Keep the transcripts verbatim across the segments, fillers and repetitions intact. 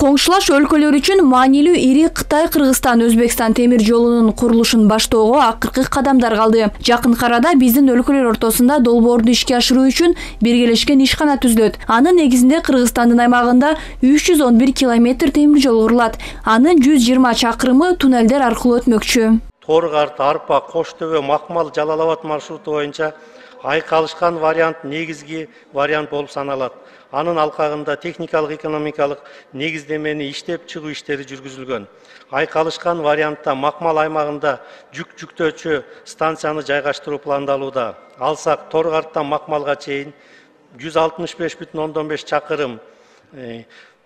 Коңшулаш өлкөлөр үчүн маанилүү ири Кытай-Кыргызстан-Өзбекстан темир жолунун курулушун баштоого акыркы кадамдар калды. Жакын арада биздин өлкөлөр ортосунда долбоорду ишке ашыруу үчүн биргелешкен ишкана түзүлөт. Анын негизинде Кыргызстандын аймагында үч жүз он бир километр темир жол курулат. Анын жүз жыйырма чакырымы туннелдер аркылуу өтмөкчү. Торгарт, Арпа, Кош Төбө, Макмал, Жалал Абад маршруту боюнча айкалышкан вариант негизги вариант болуп саналат. Анын алкагында техникалык экономикалык негиздемени иштеп чыгуу иштери жүргүзүлгөн. Айкалышкан вариантта Макмал аймагында жүк жүктөөчү станцияны жайгаштыруу пландалууда. Алсак Торгарттан Макмалга чейин жүз алтымыш беш бүтүн ондон беш чакырым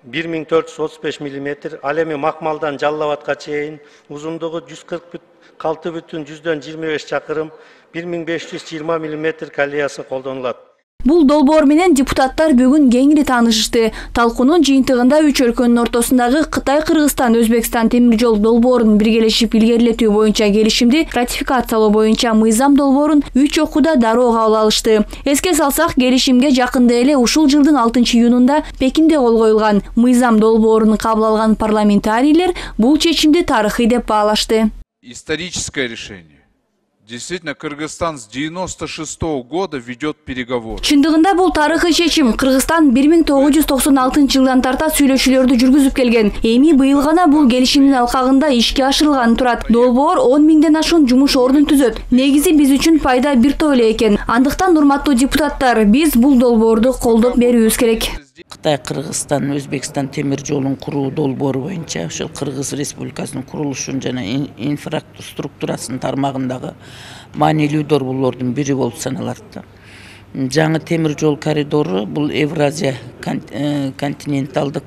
бир миң төрт жүз отуз беш миллиметр, ал эми Макмалдан Жалал Абадка чейин узундугу жүз кырк алты бүтүн жүздөн жыйырма беш чакырым бир миң беш жүз жыйырма миллиметр колеясы колдонулат. Бул долбоор менен депутаттар бүгүн кеңири таанышышты. Талкуунун жыйынтыгында үч өлкөнүн ортосундагы Кытай-Кыргызстан-Өзбекстан темир жол долбоорун биргелешип илгерилетүү боюнча келишимди ратификациялоо боюнча мыйзам долбоорун үч окууда дароо кабыл алышты. Эске салсак, келишимге жакында эле ушул жылдын алтынчы июнунда Пекинде кол коюлган. Мыйзам долбоорун кабыл алган парламентарийлер бул чечимди тарыхый деп баалашты. Историческое решение. Действительно, Кыргызстан с девяносто шестого года ведет переговоры. Чындыгында бул тарыхый чечим. Кыргызстан бир миң тогуз жүз токсон алтынчы жылдан тарта сүйлөшүүлөрдү жүргүзүп келген. Эми быйыл гана бул келишимдин алкагында ишке ашырылганы турат. Долбоор он миңден ашуун жумуш ордун түзөт. Негизи биз үчүн пайда бир топ эле экен. Андыктан урматтуу депутаттар, биз бул долбоорду колдоп берүүбүз керек. Кытай-Кыргызстан, Өзбекстан темир жолун куруу долбоору боюнча ошол Кыргыз Республикасынын курулушун жана инфраструктурасын тармагындагы маанилүү долбоорлордун бири болуп саналат. Жаңы темир жол коридору бул Евразия континенталдык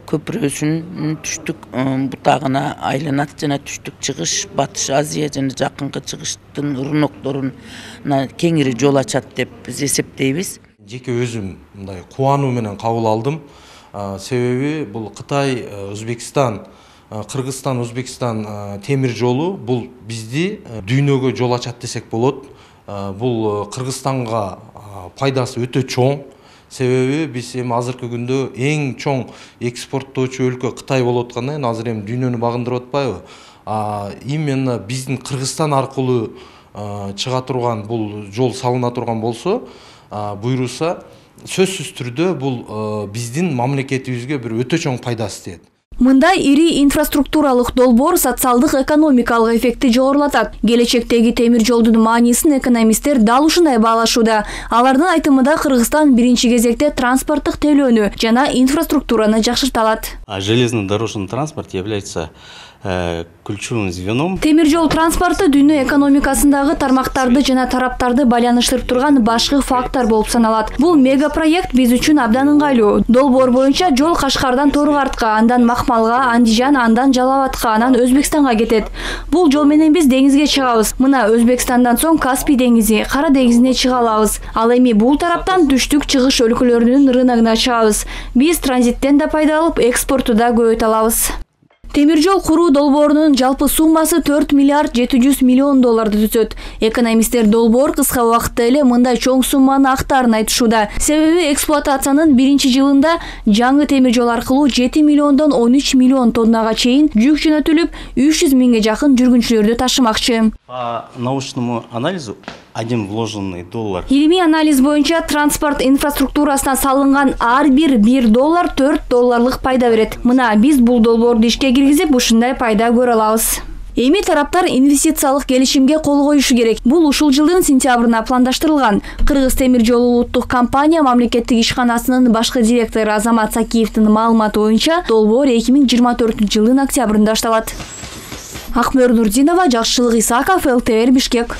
көпүрөсүнүн түштүк бутагына айланат жана түштүк чыгыш, Батыш Азия жана жакынкы чыгыштын рынокторуна кеңири жол ачат деп биз эсептейбиз. Жеке өзүм мындай кубануу менен кабыл алдым. Себеби бул Кытай, Өзбекстан, Кыргызстан, Өзбекстан темир жолу бул бизди дүйнөгө жол ачат десек болот. Бул Кыргызстанга пайдасы өтө чоң. Себеби биз эми азыркы күндө эң чоң экспорттоочу өлкө Кытай болуп аткандан кийин азыр эми дүйнөнү багындырып атпайбы? Именно биздин Кыргызстан аркылуу чыга турган бул жол салына турган болсо, буйруса, сөзсүз түрдө бул биздин мамлекетибизге бир өтө чоң пайдасы тиет. Мындай ири инфраструктуралык долбоор социалдык экономикалык эффекти жогорулатат. Келечектеги темир жолдун маанисин экономисттер дал ушундай баалашууда. Алардын айтымында Кыргызстан биринчи кезекте транспорттук тейлөөнү жана инфраструктураны жакшырта алат. Железнодорожный транспорт является ключевым звеном. Темир жол транспорту дүйнө экономикасындагы тармактарды жана тараптарды байланыштырып турган башкы фактор болуп саналат. Бул мега проект биз үчүн абдан ыңгайлуу. Долбоор боюнча жол Кашкардан Торгартка, андан Макмалга, Андижан, андан Жалал Абадка, анан Өзбекстанга кетет. Бул жол менен биз деңизге чыгабыз. Мына Өзбекстандан соң Каспий деңизи, Кара деңизине чыга алабыз. Ал эми бул тараптан түштүк чыгыш өлкөлөрүнүн рыногуна чыгабыз. Биз транзиттен да пайда алып, экспортту да көбөйтө алабыз. Темир жол куруу долбоорунун жалпы суммасы төрт миллиард жети жүз миллион долларды түзөт. Экономисттер долбоор кыска убакытта эле мындай чоң сумманы актаарын айтышууда. Себеби эксплуатациянын биринчи жылында жаңы темир жол аркылуу жети миллиондон он үч миллион тоннага чейин жүк жөнөтүлүп, үч жүз миңге жакын жүргүнчүлөрдү ташымакчы. По научному анализу один вложенный доллар. Илимий анализ боюнча транспорт инфраструктурасына салынган ар бир бир доллар төрт долларлык пайда берет. Мына биз бул долбоорду ишке киргизип ушундай пайда көрө алабыз. Эми тараптар инвестициялык келишимге кол коюшу керек. Бул ушул жылдын сентябрына пландаштырылган. Кыргыз темир жолу улуттук компания мамлекеттик ишканасынын башкы директору Азамат Сакиевдин маалыматы боюнча долбоор эки миң жыйырма төртүнчү жылдын октябрында башталат. Акмөр Нурдинова, Жакшылык Исаков, эл тэ эр Бишкек.